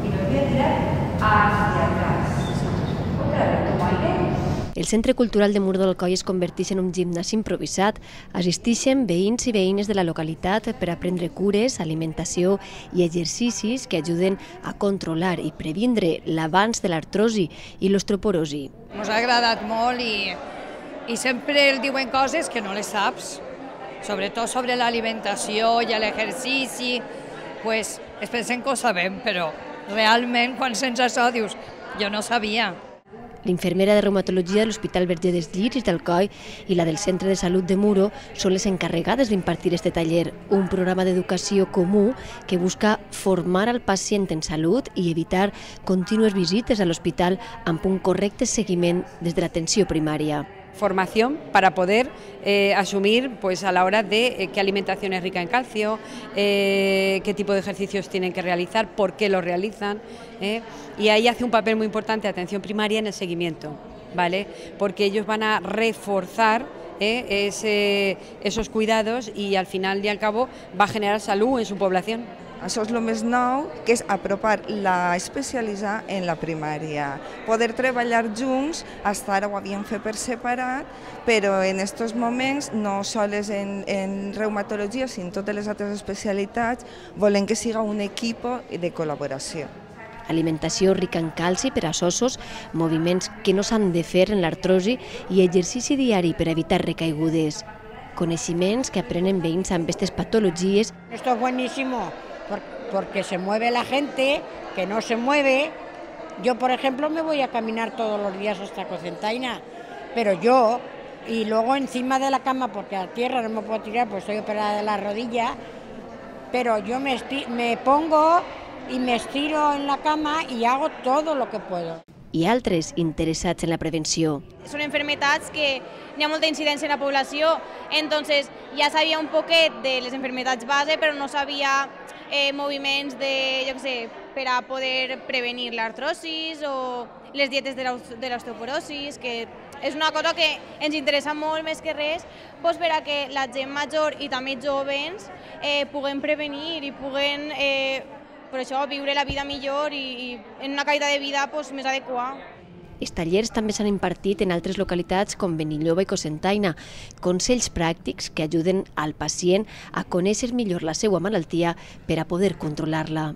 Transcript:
y nos voy a tirar hacia atrás. Otra vez, tomo aire. El Centre Cultural de Muro del Coll es converteix en un gimnàs improvisat. Assisteixen veïns i veïnes de la localitat per aprendre cures, alimentació i exercicis que ajuden a controlar i previndre l'avanç de l'artrosi i l'osteoporosi. Ens ha agradat molt i sempre el diuen coses que no les saps, sobretot sobre l'alimentació i l'exercici, pues es pensen que ho sabem, però realment quan sents això dius, jo no sabia. L'infermera de reumatologia de l'Hospital Verger dels Lliris del Coll i la del Centre de Salut de Muro són les encarregades d'impartir este taller, un programa d'educació comú que busca formar al pacient en salut i evitar contínues visites a l'hospital amb un correcte seguiment des de l'atenció primària. Formación para poder asumir pues a la hora de qué alimentación es rica en calcio, qué tipo de ejercicios tienen que realizar, por qué los realizan, y ahí hace un papel muy importante atención primaria en el seguimiento, ¿vale? Porque ellos van a reforzar esos cuidados y al final y al cabo va a generar salud en su población. Això és el més nou, que és apropar l'especialitzar en la primària. Poder treballar junts, hasta ara ho havíem fet per separat, però en aquests moments, no sols en reumatologia, sinó en totes les altres especialitats, volem que siga un equip de col·laboració. Alimentació rica en calci per als ossos, moviments que no s'han de fer en l'artrosi i exercici diari per evitar recaigudes. Coneixements que aprenen veïns amb aquestes patologies. Esto es buenísimo, porque se mueve la gente, que no se mueve. Yo, por ejemplo, me voy a caminar todos los días hasta Cocentaina, pero yo, y luego encima de la cama, porque a tierra no me puedo tirar, pues estoy operada de la rodilla, pero yo me pongo y me estiro en la cama y hago todo lo que puedo. I altres interessats en la prevenció. Són enfermetats que hi ha molta incidència en la població, entonces ja sabia un poquet de les enfermetats base, però no sabia moviments de, jo què sé, per a poder prevenir l'artrosis o les dietes de l'osteoporosis, que és una cosa que ens interessa molt més que res, doncs per a que la gent major i també joves puguen prevenir i puguen per això viure la vida millor i en una qualitat de vida més adequada. Els tallers també s'han impartit en altres localitats com Benilloba i Cocentaina, consells pràctics que ajuden al pacient a conèixer millor la seva malaltia per a poder controlar-la.